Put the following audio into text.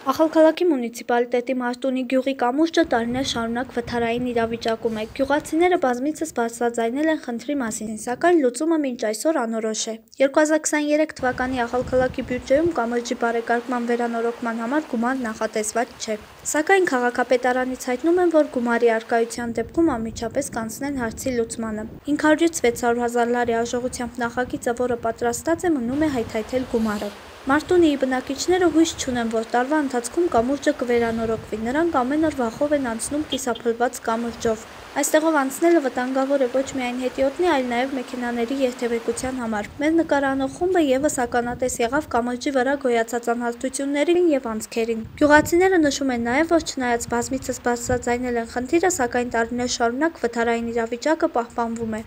Ախալքալաքի մունիցիպալիտետի Մարտունի գյուղի կամուրջը տարիներ շարունակ վթարային իրավիճակում է։ Գյուղացիները բազմիցս բարձրաձայնել են խնդրի մասին, սակայն լուծումը մինչ այսօր անորոշ է։ 2023 թվականի ախալքալաքի բյուջեում կամրջի բարեկարգման վերանորոգման համար գումար նախատեսված չէ։ Սակայն քաղաքապետարանից հայտնում են, որ գումարի առկայության դեպքում անմիջապես կանցնեն հարցի լուծմանը։ 500-ից 600 հազար լարի արժողությամբ նախագիծը, որը պատրաստած է, մնում է հայթայթել գումարը։ Մարտունիի բնակիչները հույս չունեն, որ տարվա ընթացքում կամուրջը կվերանորոգվի, նրանք ամեն օր վախով են անցնում կիսափլված կամուրջով։ Այստեղով անցնելը վտանգավոր է ոչ միայն հետիոտնի, այլ նաև մեքենաների երթևեկության համար։ Մեր նկարանող խումբը ևս ականատես եղավ կամրջի վրա գոյացած անհարթություններին և անցքերին։ Գյուղացիները նշում են նաև, որ չնայած բազմիցս բարձրաձայնել են խնդիրը, սակայն տարիներ շարունակ վթարային իրավիճակը պահպանվում է։